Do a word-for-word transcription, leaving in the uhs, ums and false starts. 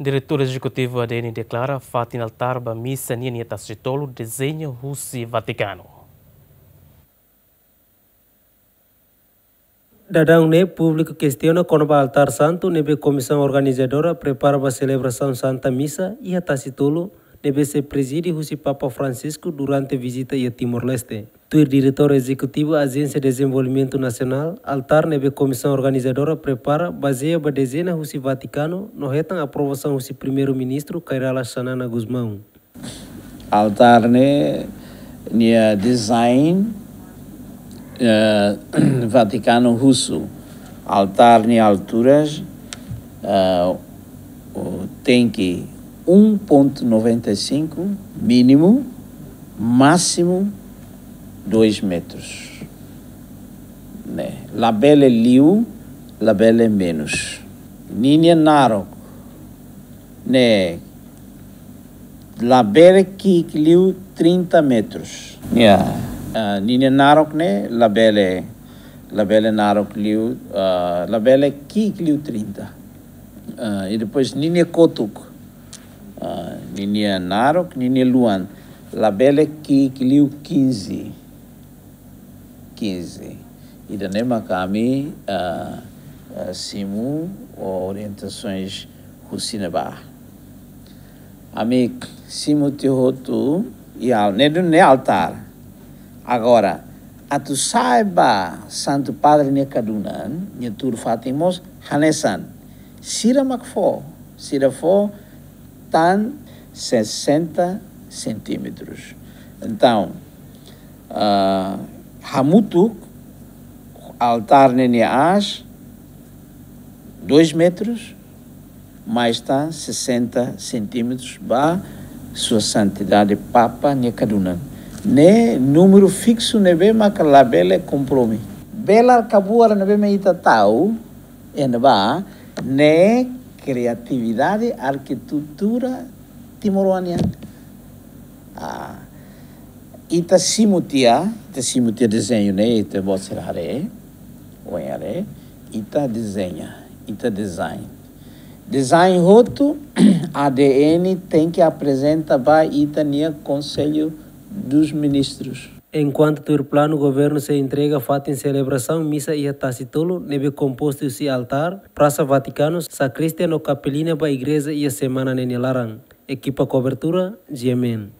Diretór Ezekutivu A D N deklara fatin altár ba misa nian iha Tasi Tolu dezeña husi Vatikanu. Daudaun ne'e públiku kestiona kona-ba altár santu ne'ebé komisaun organizadora prepara ba selebrasaun Santa Misa iha Tasi Tolu, ne'ebé sei prezide husi Papa Francisco durante vizita iha Timor-Leste. Tuir Diretór Ezekutivu Ajénsia Dezenvolvimentu Nasionál, altár ne'ebé komisaun organizadora prepara bazeia ba dezena husi Vatikanu no hetan aprovasaun husi Primeiru-Ministru Kay Rala Xanana Gusmão. Altár ne'e nia design, eh, Vatikanu husu. Altár nia alturas, eh, o, tenke um ponto noventa e cinco mínimu, másimu dois metros. Ne'e, labele liu, labele menus. Ninia naruk ne'e labele ki'ik liu trinta metros. Ya. Ah, ninia naruk ne'e labele, labele naruk liu, ah, labele ki'ik liu trinta. Ah, i depois ninia kotuk. Ah, ninia naruk, ninia luan. Labele ki'ik liu quinze. Quinze. Ida-ne'e mak ami, ah, ah, simu orientasaun husi ne'ebá. Ami simu tiha hotu iha al-, ne'e duni ne'e altár. Agora, atu sa'e ba Santu Padre nia kadunan, nia tuur fatin mós, hanesan. Sira mak fó, sira fó tan sessenta centímetros. Entaun, ah, hamutuk altár ne'e nia aas dois metros, mais tan sessenta centímetros ba Sua Santidade Papa nia kadunan. Ne'e númeru fiksu ne'ebé maka labele komprome. Belar kabuar ne'ebé mak ita tau, iha ne'ebá, ne'e kriatividade arkitetura timoroan nian. Ah, ita simu tiha, ita simu tiha dezeñu ne'e, ita-boot sira haree, oin haree, ita dezeña, ita design. Design hotu, A D N tenke aprezenta ba ita-nia Konsellu dos Ministrus. Enkuantu tuir planu, governu sei entrega fatin selebrasaun misa iha Tasi Tolu, ne'ebé kompostu husi altár, Prasa Vatikanu, sakristia no kapelina ba igreja iha semana ne'e nia laran. Ekipa kobertura, G M N.